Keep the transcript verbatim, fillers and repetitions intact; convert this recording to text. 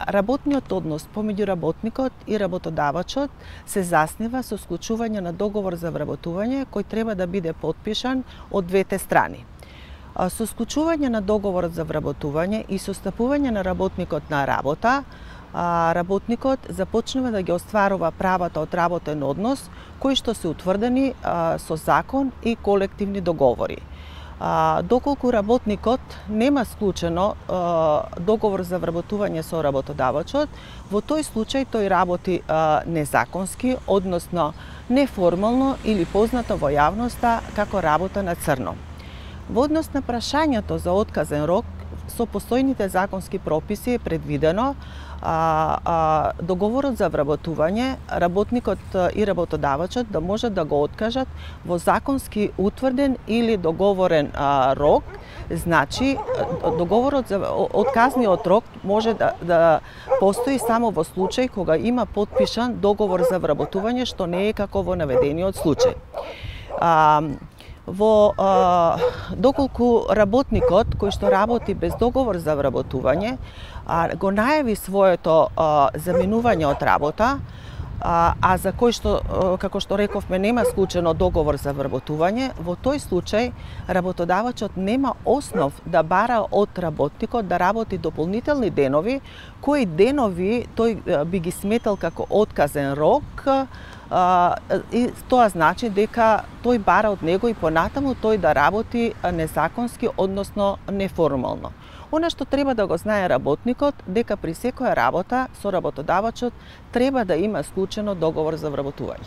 работниот однос помеѓу работникот и работодавачот се заснива со склучување на договор за вработување кој треба да биде потпишан од двете страни. Со склучување на договорот за вработување и со стапување на работникот на работа, работникот започнува да ги остварува правата од работен однос кои што се утврдени со закон и колективни договори. Доколку работникот нема склучено договор за вработување со работодавачот, во тој случај тој работи незаконски, односно неформално или познато во јавноста како работа на црно. Во однос на прашањето за отказен рок, со постојните законски прописи е предвидено а, а, договорот за вработување, работникот и работодавачот да можат да го откажат во законски утврден или договорен а, рок. Значи, договорот за отказниот рок може да, да постои само во случај кога има потпишан договор за вработување, што не е како во наведениот случај. А, Во а, доколку работникот кој што работи без договор за вработување а, го најави своето а, заменување од работа, а, а за кој што, а, како што рековме, нема склучено договор за вработување, во тој случај работодавачот нема основ да бара од работникот да работи дополнителни денови, кои денови тој би ги сметал како отказен рок. Uh, и тоа значи дека тој бара од него и понатаму тој да работи незаконски, односно неформално. Она што треба да го знае работникот, дека при секоја работа со работодавачот треба да има склучено договор за вработување.